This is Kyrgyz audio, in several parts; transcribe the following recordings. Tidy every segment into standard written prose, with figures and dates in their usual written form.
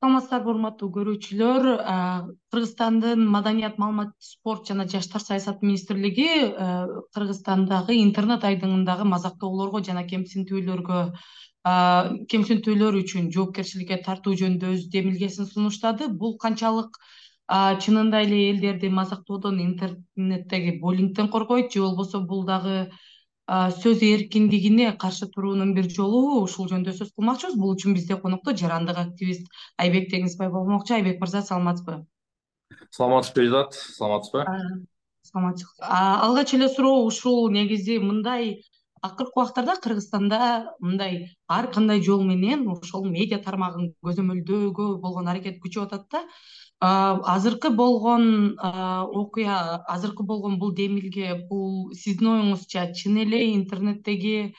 Саламатсыздарбы, урматтуу көрүүчүлөр. Кыргызстандын Маданият, маалымат, спорт жана жаштар саясаты министрлиги Кыргызстандагы интернет айдыңындагы мазактоолорго жана кемсинтүүлөр үчүн жоопкерчиликке тартуу жөнүндө өз демилгесин сунуштады. Бул канчалык чынында эле элдерди мазактоодон интернеттеги буллингден коргойт, же болбосо бул дагы сөз эркиндигине каршы туруунун бир жолу, ушул жөнүндө сөз кылмакчыбыз. Бул үчүн бизде конокто жарандык активист Айбек Теңизбай болмокчу. Айбек мырза, саламатсызбы? Саламатсызбы Изат, саламатсызбы? Саламатчылык. Алгач эле суроо ушул негизи мындай акыркы убактарда Кыргызстанда мындай ар кандай жол менен ошол медиа тармагын көзөмөлдөөгө болгон аракет күчөп атат да. Азыркы болгон окуя, азыркы болгон бул демилге, бул сиздин оюңузча чын эле интернеттеги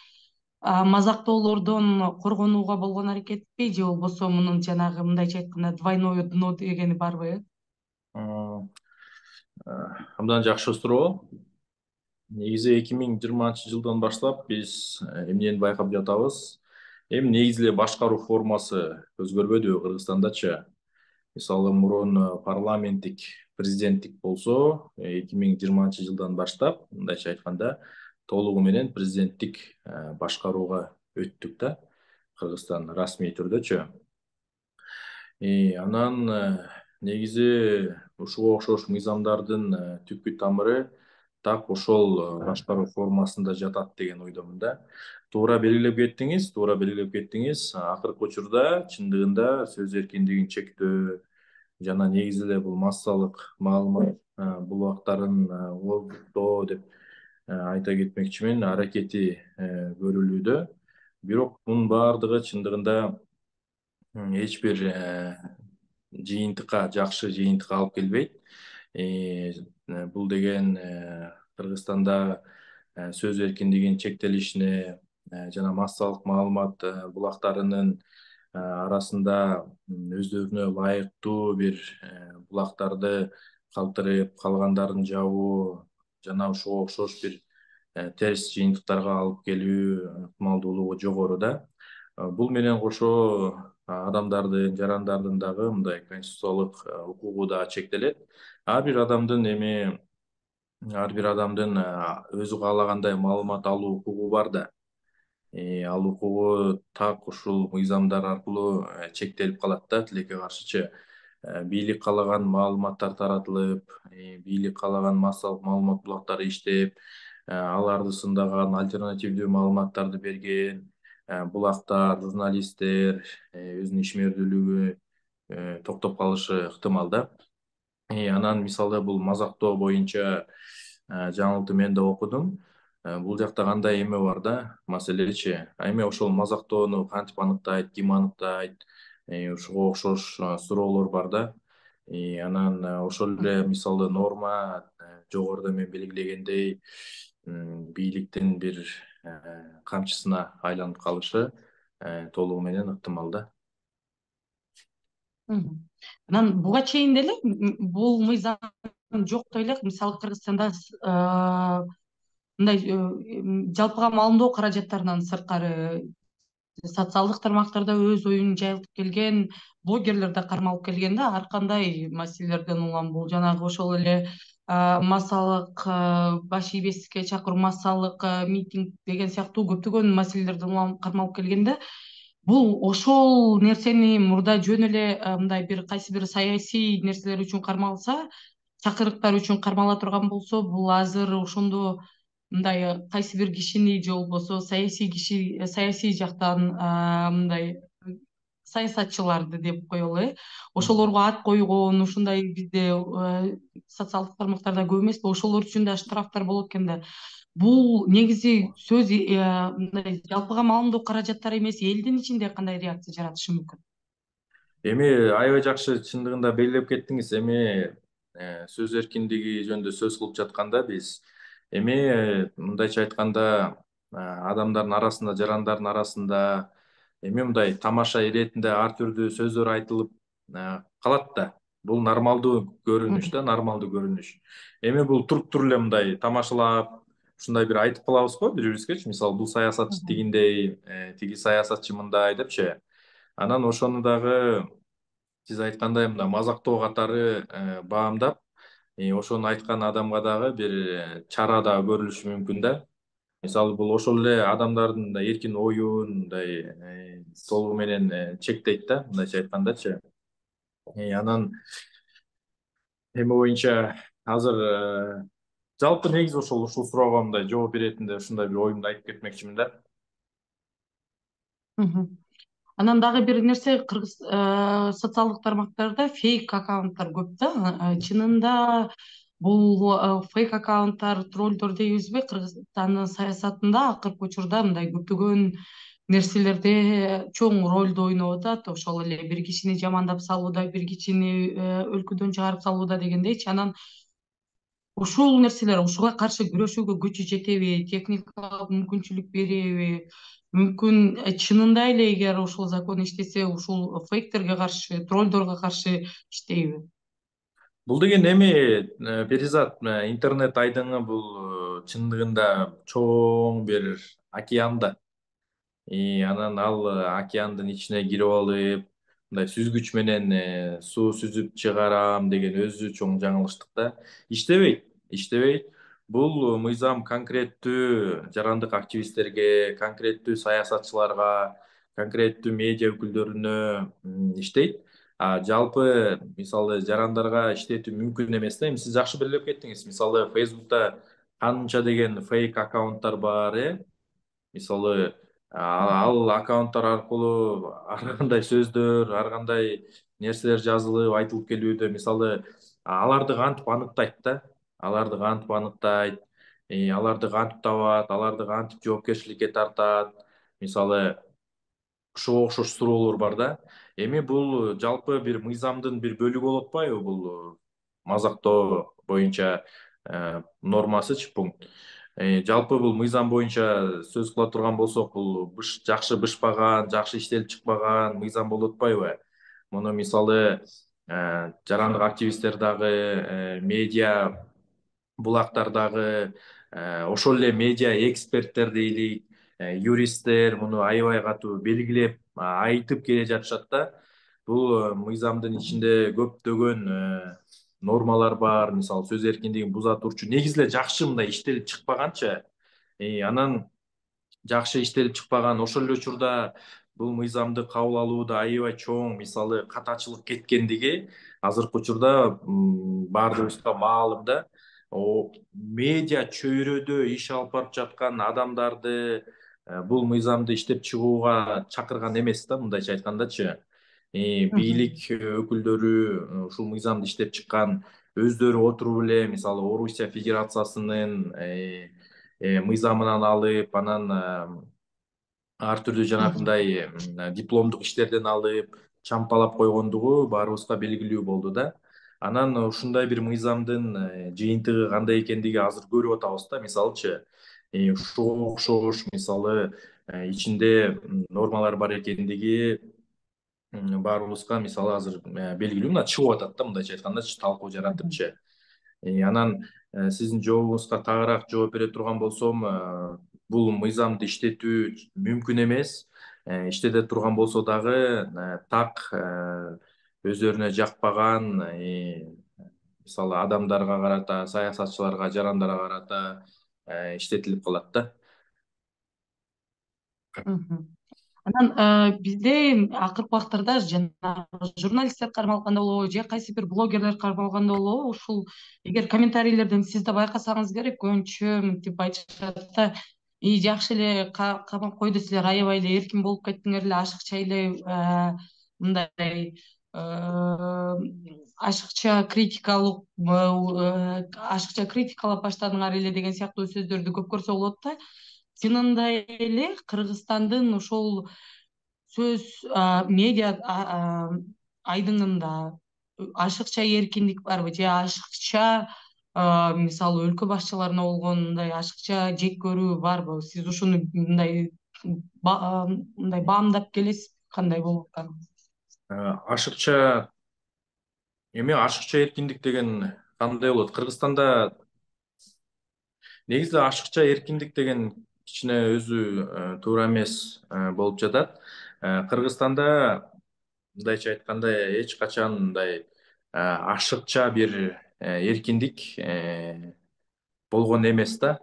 мазактоолордон коргонууга болгон аракетпи, же болбосо мунун жанагы мындайча айтканда двойное дно дегени барбы? М, Абдан жакшы суроо. Негизи 2020 жылдан баштап биз эмнени байкап жатабыз? Эми негизи эле башкаруу формасы өзгөрбөдүбү Кыргызстандачы? Мисалы мурун парламенттик, президенттик болсо, 2020 жылдан баштап, мындайча айтканда, толугу менен президенттик башкарууга өттүк да, Кыргызстан расмий түрдөчү. Анан негизи ушуга окшош мыйзамдардын түпкү тамыры так ошол башкаруу формасында жатат деген ойдомун да. Туура белгилеп кеттиңиз. Акыркы учурда чындыгында сөз эркиндигин чектөө жана негизи эле бул массалык маалымат булактарын кооздуктоо деп айта кетмекчимин, аракети көрүлүүдө. Бирок мунун баардыгы чындыгында эч бир жыйынтыкка, жакшы жыйынтыкка алып келбейт. Бул деген Кыргызстанда сөз эркиндигинин чектелишине жана массалык маалымат булактарынын арасында өздөрүнө ылайыктуу бир булактарды калтырып, калгандарын жабуу жана ушуга окшош бир терс жыйынтыктарга алып келүү ыктымалдуулугу жогору да. Бул менен кошо адамдардын, жарандардын дагы мындай конституциялык укугу да чектелет. Ар бир адамдын өзү каалагандай маалымат алуу укугу бар да. Ал укугу так ушул мыйзамдар аркылуу чектелип калат да, тилекке каршычы. Бийлик каалаган маалыматтар таратылып, бийлик каалаган массалык маалымат булактары иштеп, аларды сындаган альтернативдүү маалыматтарды берген булактар, журналисттер өзүнүн ишмердүүлүгү токтоп калышы ыктымал да. Анан мисалы бул мазактоо боюнча жаңылыкты мен да окудум. Бул жакта кандай эме бар да, маселечи. Эми ошол мазактоону кантип аныктайт, ким аныктайт, ушуга окшош суроолор бар да. Анан ошол эле мисалы норма жогоруда мен белгилегендей бийликтин бир камчысына айланып калышы толугу менен ыктымал да. Анан буга чейин деле бул мыйзам жок эле, мисалы Кыргызстанда мындай жалпыга маалымдоо каражаттарынан сырткары социалдык тармактарда өз оюн жайылтып келген блогерлер да кармалып келген да. Ар кандай маселелерден улам бул жанагы ошол эле массалык баш ийбестикке чакыруу, массалык митинг деген сыяктуу көптөгөн маселелерден улам кармалып келген да. Бул ошол нерсени мурда жөн эле мындай бир кайсы бир саясий нерселер үчүн кармалса, чакырыктар үчүн кармала турган болсо, бул азыр ошондо мындай кайсы бир кишини же болбосо саясий жактан мындай саясатчыларды деп коелу, ошолорго ат койгон, ушундай бизде социалдык тармактарда көп эмеспи, ошолор үчүн да штрафтар болот экен да. Бул негизи сөз мындай жалпыга маалымдоо каражаттары эмес, элдин ичинде кандай реакция жаратышы мүмкүн? Эми аябай жакшы чындыгында белгилеп кеттиңиз. Эми сөз эркиндиги жөнүндө сөз кылып жатканда биз эми мындайча айтканда адамдардын арасында, жарандардын арасында эми мындай тамаша иретинде ар түрдүү сөздөр айтылып калат да. Бул нормалдуу көрүнүш да, нормалдуу көрүнүш. Эми бул туруп эле мындай тамашалап, ушундай бир айтып калабыз го бири-бирибизгечи. Мисалы бул саясатчы тигиндей, тиги саясатчы мындай депчи. Анан ошону дагы сиз айткандай мына мазактоо катары баамдап, ошону айткан адамга дагы бир чара дагы көрүлүшү мүмкүн да. Мисалы бул ошол эле адамдардын мындай эркин оюн мындай толугу менен чектейт да, мындайча айткандачы. Анан эми боюнча азыр жалпы негизи ушул суроого мындай жооп беретинде ушундай бир оюмду айтып кетмекчимин да. Мгм. Анан дагы бир нерсе, кыргыз социалдык тармактарда фейк аккаунттар көп да. Чынында бул фейк аккаунттар, троллдор дейбизби, Кыргызстандын саясатында акыркы учурда мындай көптөгөн нерселерде чоң ролду ойноп атат. Ошол эле бир кишини жамандап салууда, бир кишини өлкөдөн чыгарып салууда дегендейчи. Анан ушул нерселер, ушуга каршы күрөшүүгө күчү жетеби, техникалык мүмкүнчүлүк береби? Мүмкүн чынында эле эгер ушул закон иштесе, ушул фейктерге каршы, троллдорго каршы иштейби? Бул деген эми перизат интернет айдыңы бул чындыгында чоң бир океан да. Анан ал океандын ичине кирип алып, мындай сүзгүч менен суу сүзүп чыгарам деген өзү чоң жаңылыштык да. Иштебейт, иштебейт. Бул мыйзам конкреттүү жарандык активисттерге, конкреттүү саясатчыларга, конкреттүү медиа өкүлдөрүнө иштейт. Жалпы мисалы жарандарга иштетүү мүмкүн эмес да. Эми сиз жакшы белгилеп кеттиңиз. Мисалы Facebook'та канча деген фейк аккаунттар бар, мисалы ал аккаунттар аркылуу ар кандай сөздөр, ар кандай нерселер жазылып, айтылып келүүдө. Мисалы аларды кантип аныктайт да, аларды кантип аныктайт, аларды кантип табат, аларды кантип жоопкерчиликке тартат. Мисалы ошого окшош суроолор бар да. Эми бул жалпы бир мыйзамдын бир бөлүгү болуп атпайбы бул мазактоо боюнча нормасычы, пункт. Жалпы бул мыйзам боюнча сөз кыла турган болсок, бул жакшы бышпаган, жакшы иштелип чыкпаган мыйзам болуп атпайбы? Муну мисалы жарандык активисттер дагы, медиа булактар дагы, ошол эле медиа эксперттер дейли, юристтер муну аябай катуу белгилеп, айтып келе жатышат да. Бул мыйзамдын ичинде көптөгөн нормалар бар. Мисалы сөз эркиндигин буза турчу негизи эле жакшы мындай иштелип чыкпаганчы. Анан жакшы иштелип чыкпаган, ошол эле учурда бул мыйзамды кабыл алууда аябай чоң мисалы катачылык кеткендиги азыркы учурда баардыгыбызга маалым да. Медиа чөйрөдө иш алып барып жаткан адамдарды бул мыйзамды иштеп чыгууга чакырган эмес да, мындайча айткандачы. Бийлик өкүлдөрү ушул мыйзамды иштеп чыккан, өздөрү отуруп эле мисалы Орусия Федерациясынын мыйзамынан алып, анан ар түрдүү жанагындай дипломдук иштерден алып, чампалап койгондугу баарыбызга белгилүү болду да. Анан ушундай бир мыйзамдын жыйынтыгы кандай экендиги азыр көрүп атабыз да. Мисалычы, ушуга окшош мисалы ичинде нормалар бар экендиги баарыбызга мисалы азыр белгилүү, мына чыгып атат да, мындайча айткандачы, талкуу жаратыпчы. Анан сиздин жообуңузга тагыраак жооп бере турган болсом, бул мыйзамды иштетүү мүмкүн эмес. Иштете турган болсо дагы так өздөрүнө жакпаган мисалы адамдарга карата, саясатчыларга, жарандарга карата иштетилип калат да. Анан бизде акыркы убактарда жанагы журналисттер кармалганда болобу же кайсы бир блогерлер кармалганда болобу, ушул эгер комментарийлерден сиз да байкасаңыз керек, көбүнчө мынтип айтышат да: жакшы эле камап койду, силер аябай эле эркин болуп кеттиңер эле, ашыкча эле мындай ашыкча критикалап баштадыңар эле деген сыяктуу сөздөрдү көп көрсө болот да. Чынында эле Кыргызстандын ошол сөз медиа айдыңында ашыкча эркиндик барбы, же ашыкча мисалы өлкө башчыларына болгон мындай ашыкча жек көрүү барбы? Сиз ушуну мындай баамдап келесизби, кандай болуп атканын? Ашыкча эми ашыкча эркиндик деген кандай болот? Кыргызстанда негизи ашыкча эркиндик деген кичине өзү туура эмес болуп жатат. Кыргызстанда мындайча айтканда эч качан мындай ашыкча бир эркиндик болгон эмес да.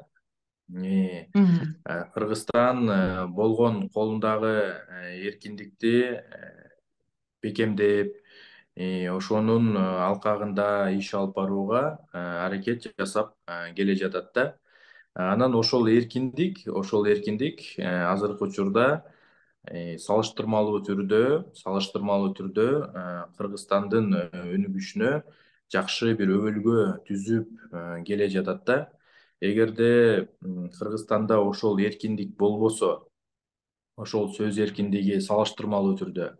Мгм. Кыргызстан болгон колундагы эркиндикти бекемдеп, ошонун алкагында иш алып барууга аракет жасап келе жатат да. Анан ошол эркиндик азыркы учурда салыштырмалуу түрдө Кыргызстандын өнүгүшүнө жакшы бир өбөлгө түзүп келе жатат да. Эгерде Кыргызстанда ошол эркиндик болбосо, ошол сөз эркиндиги салыштырмалуу түрдө,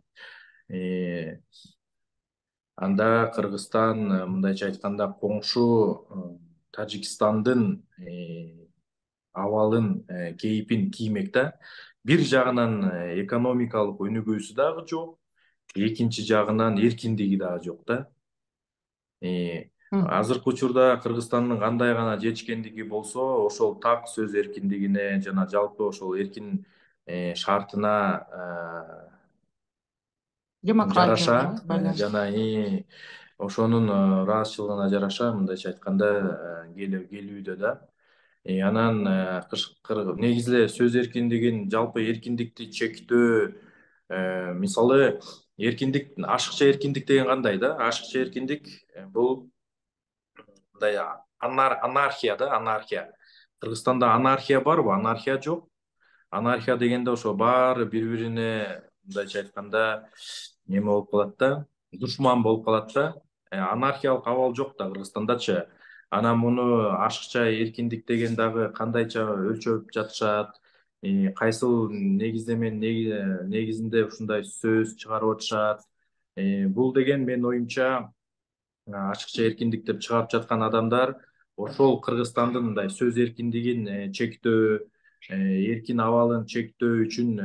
э, анда Кыргызстан мындайча айтканда коңшу Тажикстандын абалын, кейипин киймек да. Бир жагынан экономикалык өнүгүүсү дагы жок, экинчи жагынан эркиндиги дагы жок да. Мгм. Азыркы учурда Кыргызстандын кандай гана жетишкендиги болсо, ошол так сөз эркиндигине жана жалпы ошол эркин шартына жараша, Демократияга жана байланыштуу. ошонун ыраазычылыгына жараша мындайча айтканда келүүдө да. Анан негизи эле сөз эркиндигин, жалпы эркиндикти чектөө, мисалы эркиндик, ашыкча эркиндик деген кандай да? Ашыкча эркиндик бул мындай анархия да, анархия. Кыргызстанда анархия барбы? Анархия жок. Анархия дегенде ошо баары бири-бирине мындайча айтканда неме болуп калат да, душман болуп калат да. Анархиялык абал жок да Кыргызстандачы. Анан муну ашыкча эркиндик деген дагы кандайча өлчөп жатышат, кайсыл негизинде ушундай сөз чыгарып атышат. Бул деген менин оюмча ашыкча эркиндик деп чыгарып жаткан адамдар ошол Кыргызстандын мындай сөз эркиндигин чектөө, эркин абалын чектөө үчүн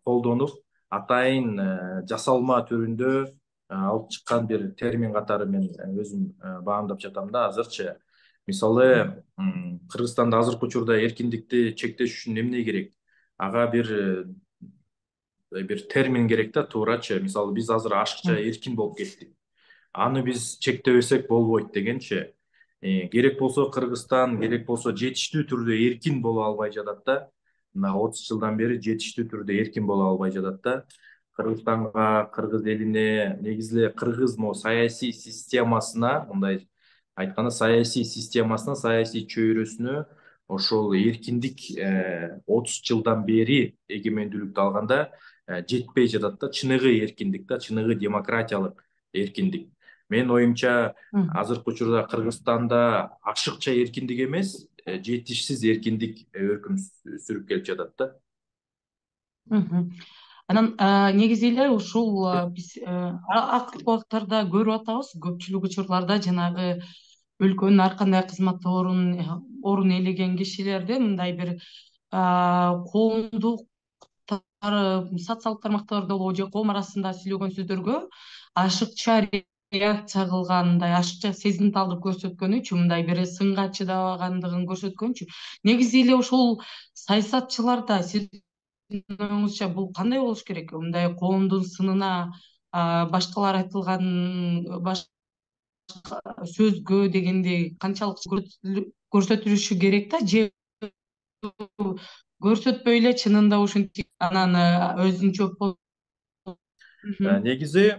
колдонуп, атайын жасалма түрүндө алып чыккан бир термин катары мен өзүм баамдап жатам да азырчы. Мисалы, Кыргызстанда азыркы учурда эркиндикти чектеш үчүн эмне керек? Ага бир термин керек да, туурачы. Мисалы, биз азыр ашыкча Мгм. эркин болуп кеттик. Аны биз чектебесек болбойт дегенчи. Керек болсо Кыргызстан, керек болсо жетиштүү түрдө эркин боло албай жатат да. Мына 30 жылдан бери жетиштүү түрдө эркин боло албай жатат да. Кыргызстанга, кыргыз элине, негизи эле кыргыз могу саясий системасына, мындай айтканда саясий чөйрөсүнө ошол эркиндик 30 жылдан бери эгемендүүлүктү алганда жетпей жатат да. Чыныгы эркиндик да, чыныгы демократиялык эркиндик. Менин оюмча, Мгм. азыркы учурда Кыргызстанда ашыкча эркиндик эмес, жетишсиз эркиндик өркүн сүрүп келип жатат да. Мгм. Анан негизи эле ушул биз акыркы убактарда көрүп атабыз, көпчүлүк учурларда жанагы өлкөнүн ар кандай кызматтуу орун ээлеген кишилерди мындай бир коомдук социалдык тармактарда болобу же коом арасында сүйлөгөн сөздөргө ашыкча реакция кылган, мындай ашыкча сезимталдык көрсөткөнү үчүн, мындай бир сынга чыдабагандыгын көрсөткөн үчүн негизи эле ошол саясатчыларда сиздин оюңузча бул кандай болуш керек? Мындай коомдун сынына башкалар айтылган башка сөзгө дегендей канчалык көрсөтүлүшү керек да, же көрсөтпөй эле чынында ушинтип анан өзүнчө Мгм. Негизи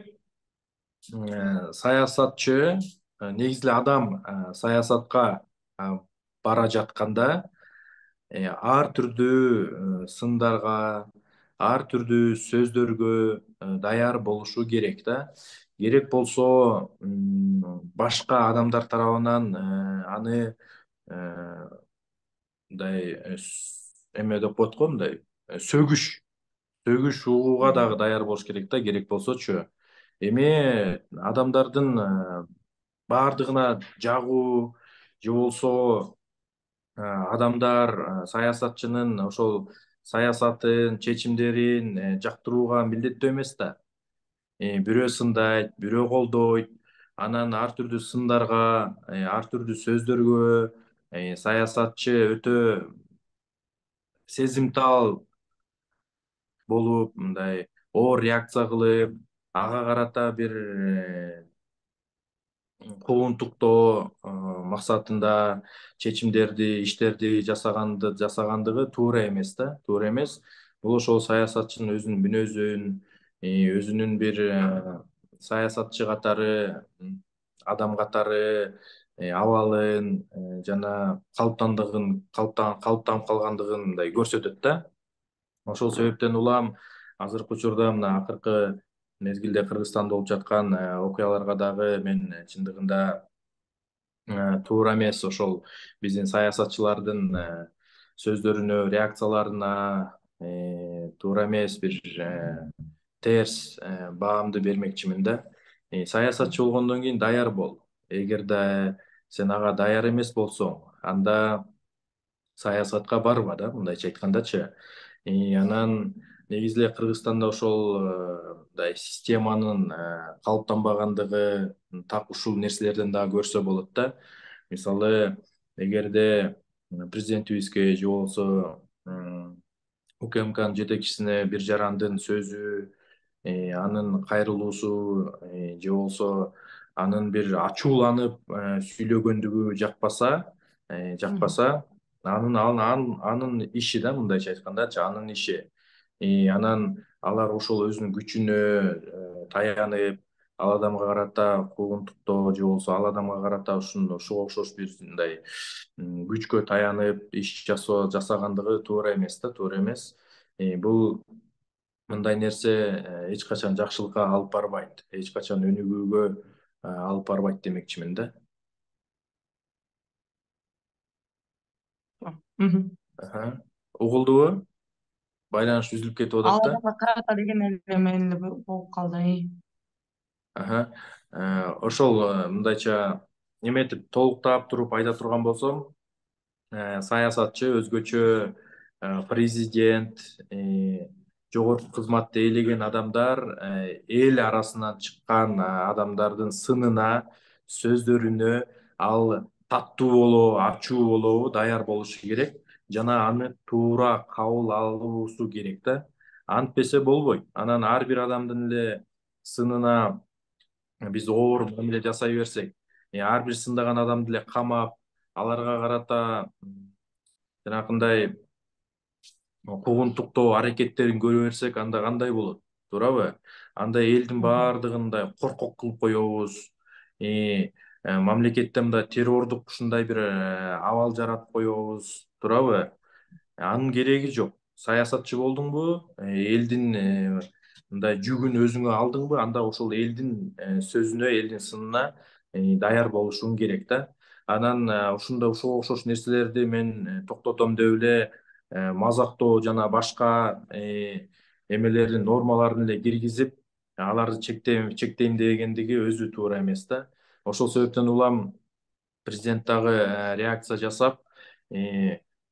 саясатчы, негизи эле адам саясатка бара жатканда ар түрдүү сындарга, ар түрдүү сөздөргө даяр болушу керек да. Керек болсо башка адамдар тарабынан аны мындай эме деп коет го, мындай сөгүш угууга Мгм. дагы даяр болуш керек да, керек болсочу. Эми адамдардын баардыгына жагуу же болбосо адамдар саясатчынын ошол саясатын, чечимдерин жактырууга милдеттүү эмес да. Бирөө сындайт, бирөө колдойт. Анан ар түрдүү сындарга, ар түрдүү сөздөргө саясатчы өтө сезимтал болуп, мындай оор реакция кылып, ага карата бир куугунтуктоо максатында чечимдерди, иштерди жасагандыгы туура эмес да, туура эмес. Бул ошол саясатчынын өзүнүн мүнөзүн, өзүнүн бир саясатчы катары, адам катары абалын жана калыптанып калгандыгын мындай көрсөтөт да. Ошол себептен улам азыркы учурда мына акыркы мезгилде Кыргызстанда болуп жаткан окуяларга дагы мен чындыгында туура эмес ошол биздин саясатчылардын сөздөрүнө, реакцияларына туура эмес бир терс баамды бермекчимин да. Саясатчы болгондон кийин даяр бол. Эгерде сен ага даяр эмес болсоң, анда саясатка барба да, мындайча айткандачы. Анан негизи эле Кыргызстанда ошол мындай системанын калыптанбагандыгы так ушул нерселерден дагы көрсө болот да. Мисалы, эгерде президентибизге же болбосо УКМКнын жетекчисине бир жарандын сөзү, анын кайрылуусу, же болбосо анын бир ачууланып сүйлөгөндүгү жакпаса, анын иши да, мындайча айткандачы, анын иши. Анан алар ошол өзүнүн күчүнө таянып, ал адамга карата куугунтуктоо же болбосо ал адамга карата ушуга окшош бир мындай күчкө таянып иш жасагандыгы туура эмес да, туура эмес. Бул мындай нерсе эч качан жакшылыкка алып барбайт, эч качан өнүгүүгө алып барбайт демекчимин да. Мгм. Угулдубу? Байланыш үзүлүп кетип Ал атат да. адамга карата деген эле мени болуп калды. Ошол мындайча эметип толуктап туруп айта турган болсом, саясатчы өзгөчө президент, жогорку кызматты ээлеген адамдар эл арасынан чыккан адамдардын сынына, сөздөрүнө ал таттуу болобу, ачуу болобу даяр болушу керек жана аны туура кабыл алуусу керек да. Антпесе болбойт. Анан ар бир адамдын эле сынына биз оор мамиле жасай берсек, ар бир сындаган адамды эле камап, аларга карата жанакындай куугунтуктоо аракеттерин көрө берсек, анда кандай болот, туурабы? Анда элдин баардыгын мындай коркок кылып коебуз. Мамлекетте мындай террордук ушундай бир абал жаратып коебуз, туурабы? Анын кереги жок. Саясатчы болдуңбу, элдин мындай жүгүн өзүңө алдыңбы, анда ошол элдин сөзүнө, элдин сынына даяр болушуң керек да. Анан ушуга окшош нерселерди мен токтотом деп эле мазактоо жана башка эмелердин нормаларын эле киргизип, аларды чектейм дегендиги өзү туура эмес да. Ошол себептен улам президент дагы реакция жасап,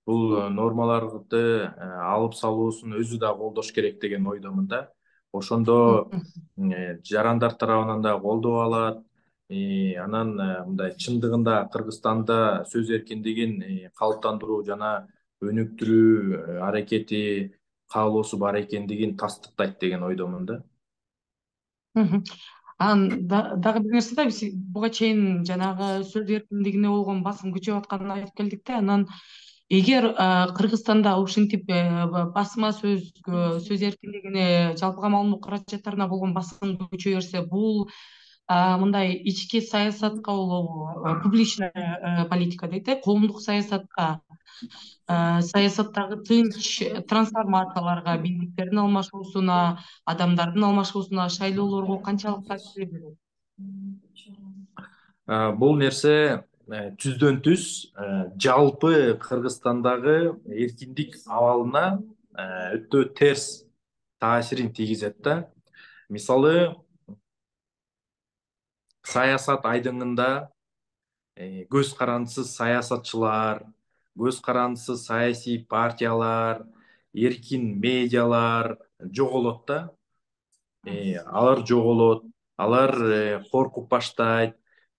бул нормаларды алып салуусун өзү да колдош керек деген ойдомун да. Ошондо жарандар тарабынан да колдоо алат. Анан мындай чындыгында Кыргызстанда сөз эркиндигин калыптандыруу жана өнүктүрүү аракети, каалоосу бар экендигин тастыктайт деген ойдомун да. Анан дагы бир нерсе да, биз буга чейин жанагы сөз эркиндигине болгон басым күчөп атканын айтып келдик да. Анан эгер Кыргызстанда ушинтип басма сөзгө, сөз эркиндигине, жалпыга маалымдоо каражаттарына болгон басым күчөй берсе, бул мындай ички саясатка болобу, публичная политика дейт, коомдук саясатка, саясаттагы тынч трансформацияларга, бийликтердин алмашуусуна, адамдардын алмашуусуна, шайлоолорго канчалык таасир берет? Бул нерсе түздөн түз жалпы Кыргызстандагы эркиндик абалына өтө терс таасирин тийгизет да. Мисалы, саясат айдыңында көз карандысыз саясатчылар, көз карандысыз саясий партиялар, эркин медиалар жоголот да. Алар жоголот, алар коркуп баштайт,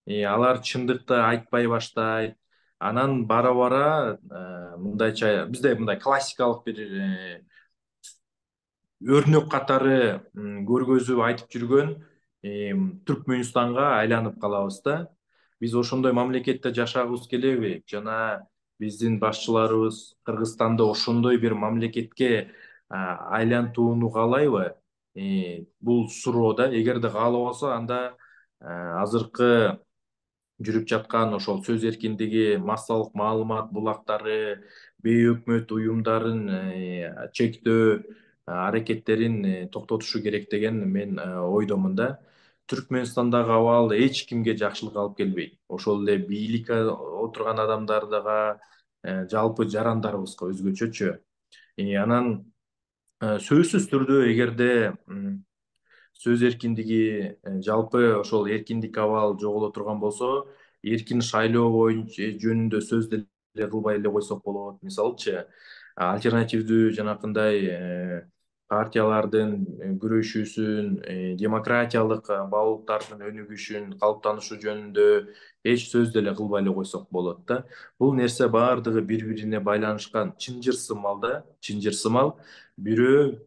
алар чындыкты айтпай баштайт. Анан бара-бара мындайча бизде мындай классикалык бир өрнөк катары көргөзүп айтып жүргөн Түркмөнстанга айланып калабыз да. Биз ошондой мамлекетте жашагыбыз келеби жана биздин башчыларыбыз Кыргызстанды ошондой бир мамлекетке айлантууну каалайбы? Бул суроо да. Эгерде каалабаса, анда азыркы жүрүп жаткан ошол сөз эркиндиги, массалык маалымат булактары, бейөкмөт уюмдарын чектөө аракеттерин токтотушу керек деген мен ойдомун да. Түркмөнстандагы абал эч кимге жакшылык алып келбейт. Ошол эле бийликке отурган адамдарга, жалпы жарандарыбызга өзгөчөчү. Анан сөзсүз түрдө эгерде сөз эркиндиги, жалпы ошол эркиндик абал жоголо турган болсо, эркин шайлоо боюнча жөнүндө сөз деле кылбай эле койсок болот. Мисалычы, альтернативдүү жанакындай партиялардын күрөшүүсүн, демократиялык баалуулуктардын өнүгүшүн, калыптанышы жөнүндө эч сөз деле кылбай эле койсок болот да. Бул нерсе баардыгы бири бирине байланышкан, чынжырсымал да, чынжырсымал. Бирөө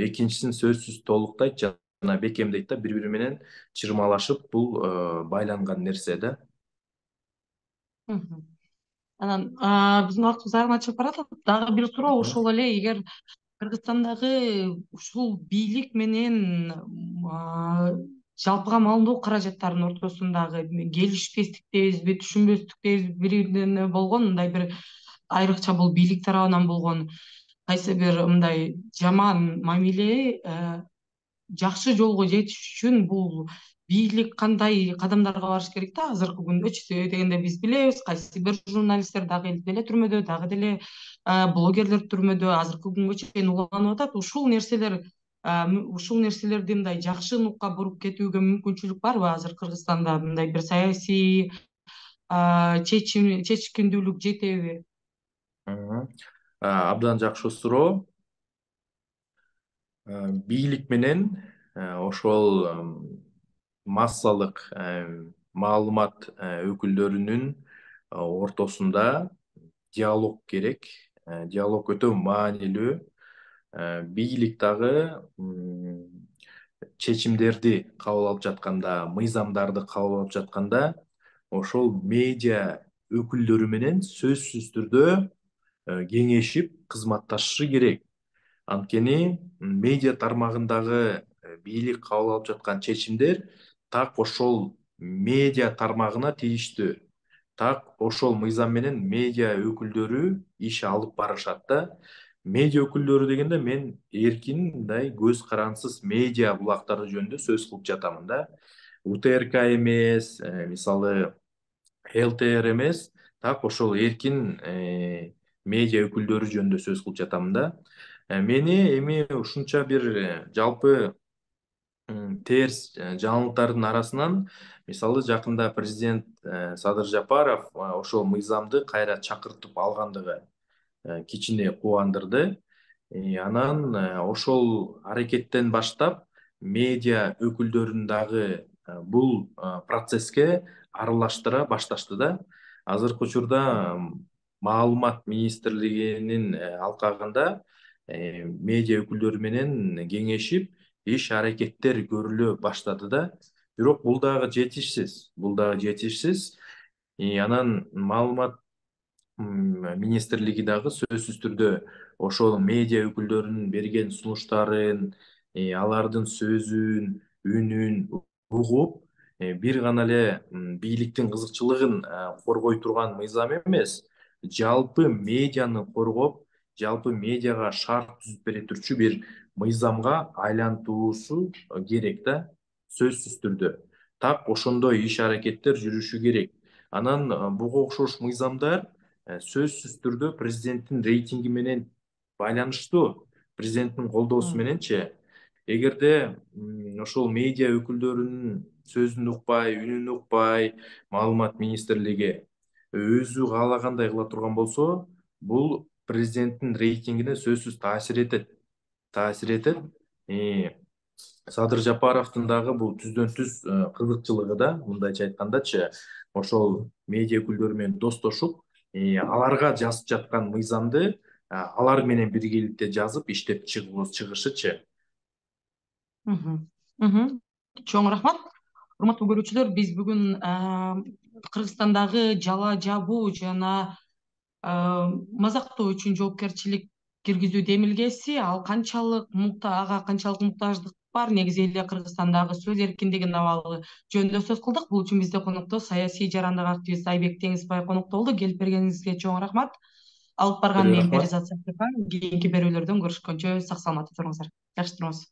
экинчисин сөзсүз толуктайт жана бекемдейт да, бири бири менен чырмалашып, бул байланган нерсе да. Мгм. Анан биздин убактыбыз аягына чыгып баратат. Дагы бир суроо ушул эле: эгер Кыргызстандагы ушул бийлик менен жалпыга маалымдоо каражаттарынын ортосундагы келишпестик дейбизби, түшүнбөстүк дейбизби, бири бирине болгон мындай бир, айрыкча бул бийлик тарабынан болгон кайсы бир мындай жаман мамиле жакшы жолго жетиш үчүн бул бийлик кандай кадамдарга барыш керек да азыркы күндөчү? Себеби дегенде биз билебиз, кайсы бир журналисттер дагы деле түрмөдө, дагы деле блогерлер түрмөдө азыркы күнгө чейин уланып атат. Ушул нерселерди мындай жакшы нукка буруп кетүүгө мүмкүнчүлүк барбы азыр Кыргызстанда? Мындай бир саясий чечкиндүүлүк жетеби? Мгм. Абдан жакшы суроо. Бийлик менен ошол массалык маалымат өкүлдөрүнүн ортосунда диалог керек. Диалог өтө маанилүү. Бийлик дагы чечимдерди кабыл алып жатканда, мыйзамдарды кабыл алып жатканда, ошол медиа өкүлдөрү менен сөзсүз түрдө кеңешип кызматташышы керек. Анткени медиа тармагындагы бийлик кабыл алып жаткан чечимдер так ошол медиа тармагына тийиштүү. Так ошол мыйзам менен медиа өкүлдөрү иш алып барышат да. Медиа өкүлдөрү дегенде мен эркин, мындай көз карансыз медиа булактары жөнүндө сөз кылып жатамын да. УТРК эмес, мисалы ЛТР эмес, так ошол эркин медиа өкүлдөрү жөнүндө сөз кылып жатам да. Мени эми ушунча бир жалпы терс жаңылыктардын арасынан, мисалы жакында президент Садыр Жапаров ошол мыйзамды кайра чакыртып алгандыгы кичине кубандырды. Анан ошол аракеттен баштап медиа өкүлдөрүн дагы бул процесске аралаштыра башташты да. Азыркы учурда маалымат министрлигинин алкагында медиа өкүлдөрү менен кеңешип иш аракеттер көрүлө баштады да. Бирок бул дагы жетишсиз. Бул дагы жетишсиз. Анан маалымат министрлиги дагы сөзсүз түрдө ошол медиа өкүлдөрүнүн берген сунуштарын, алардын сөзүн, үнүн угуп, бир гана эле бийликтин кызыкчылыгын коргой турган мыйзам эмес, жалпы медианы коргоп, жалпы медиага шарт түзүп бере турчу бир мыйзамга айлантуусу керек да, сөзсүз түрдө. Так ошондой иш аракеттер жүрүшү керек. Анан буга окшош мыйзамдар сөзсүз түрдө президенттин рейтинги менен байланыштуу. Президенттин колдоосу мененчи. Эгерде ошол медиа өкүлдөрүнүн сөзүн укпай, үнүн укпай, маалымат министрлиги өзү каалагандай кыла турган болсо, бул президенттин рейтингине сөзсүз таасир этет. Таасир этет. Садыр Жапаровдун дагы бул түздөн түз кызыкчылыгы да, мындайча айткандачы, ошол медиа өкүлдөрү менен достошуп, аларга жазып жаткан мыйзамды алар менен биргеликте жазып иштеп чыгышычы. Мгм. Мгм. Чоң рахмат. Урматтуу көрүүчүлөр, биз бүгүн Кыргызстандагы жала жабуу жана мазактоо үчүн жоопкерчилик киргизүү демилгеси ага канчалык муктаждык бар, негизи эле Кыргызстандагы сөз эркиндигин абалы жөнүндө сөз кылдык. Бул үчүн бизде конокто саясий жарандык активист Айбек Теңизбаев конокто болду. Келип бергениңизге чоң рахмат. Алып барган Көп мен рахмат. Перизат Саттыхан. Кийинки берүүлөрдөн көрүшкөнчө сак саламатта туруңуздар. Жакшы туруңуз.